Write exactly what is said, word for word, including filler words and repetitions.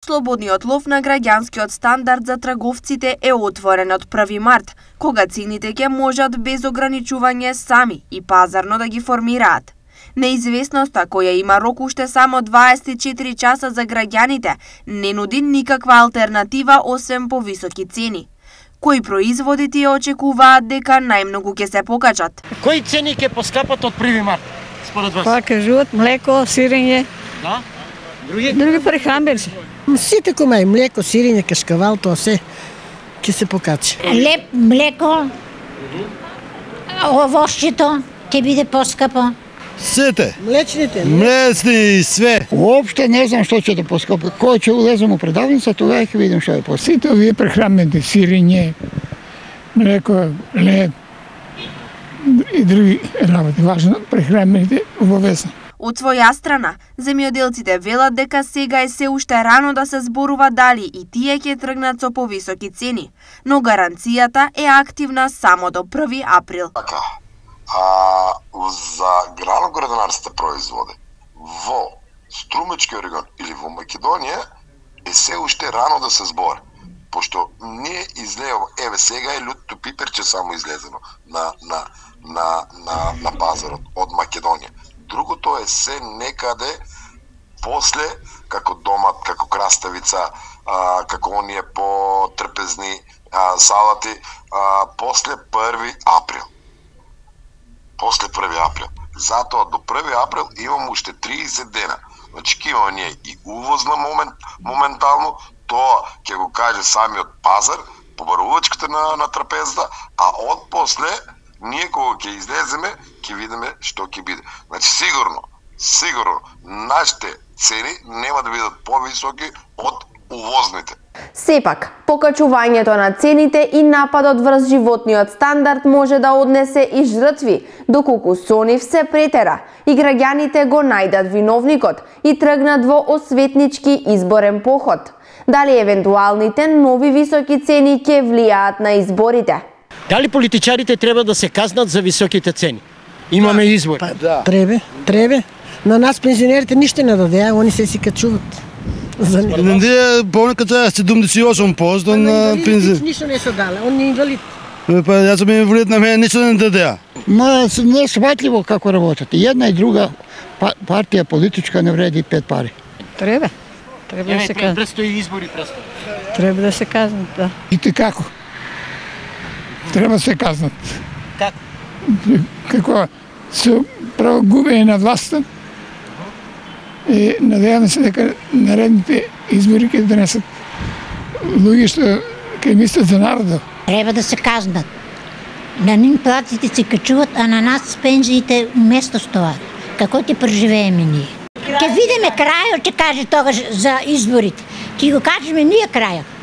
Слободниот лов на граѓанскиот стандард за трговците е отворен од први март, кога цените ќе можат без ограничување сами и пазарно да ги формираат. Неизвестноста, која има рок уште само дваесет и четири часа за граѓаните, не нуди никаква алтернатива освен повисоки цени. Кои производи тие очекуваат дека најмногу ќе се покачат? Кои цени ќе поскапат од први март, според вас? Па кажуваат млеко, сирење. Да? Други? Други прехранбени. Сите кој млеко, сирење, кашкавал, тоа се ќе се покачи. Леп, млеко, овошчето ќе биде поскапо. Сите. Млечните. Млечни и све. Уопште не знам што ќе да поскапи. Кој ќе улезем у предавница, тогава ќе видим што е поскапи. Сите овие прехранбени, сирење, млеко, леп и други работи, важно прехранбените обовезно. Од своја страна, земјоделците велат дека сега е се уште рано да се зборува дали и тие ќе тргнат со повисоки цени, но гаранцијата е активна само до први април. Така, а, за граноградарските производи во Струмечкиот регион или во Македонија е се уште рано да се збори, пошто не излева, еве сега е лутото пиперче само излезено на на на на, на пазарот од Македонија. Другото е се некаде после, како домат, како краставица, а, како оние потрпезни а, салати, а, после први април. После први април. Затоа до први април имам уште триесет дена. Значи, ќе имаме ние и увозна момент, моментално, тоа ќе го каже самиот пазар, побарувачката на, на трапезата, а од после ние кога ќе излеземе, ќе видиме што ќе биде. Значи сигурно, сигурно нашите цени нема да бидат повисоки од увозните. Сепак, покачувањето на цените и нападот врз животниот стандард може да однесе и жртви, доколку со нив се претера и граѓаните го најдат виновникот и тргнат во осветнички изборен поход. Дали евентуалните нови високи цени ќе влијаат на изборите? Дали политичарите треба да се казнат за високите цени? Имаме избор. Па, да. Требе, требе. На нас пензионерите ништо не дадеа, они се си качуват. За него. Ние понекад е седумдесет и осум проценти на пензионерите. Ништо не се дале, он не инвалид. Па јас сум инвалид, на мене ништо не дадеа. Ма не е сватливо како работат. Една и друга партија политичка не вреди пет пари. Треба. Треба да се казнат. Престои избори, престои. Треба да се казнат, да. И како? Треба да се казнат. Како? Како со право губење на власта и надеваме се дека наредните избори ќе донесат луѓе што ќе мислат за народот. Треба да се казнат. На нив платите се качуват, а на нас пензиите уместо с тоа. Како ќе преживееме ние? Ќе видиме крајот, ќе каже тогаш за изборите. Ќе го кажеме ние крајот.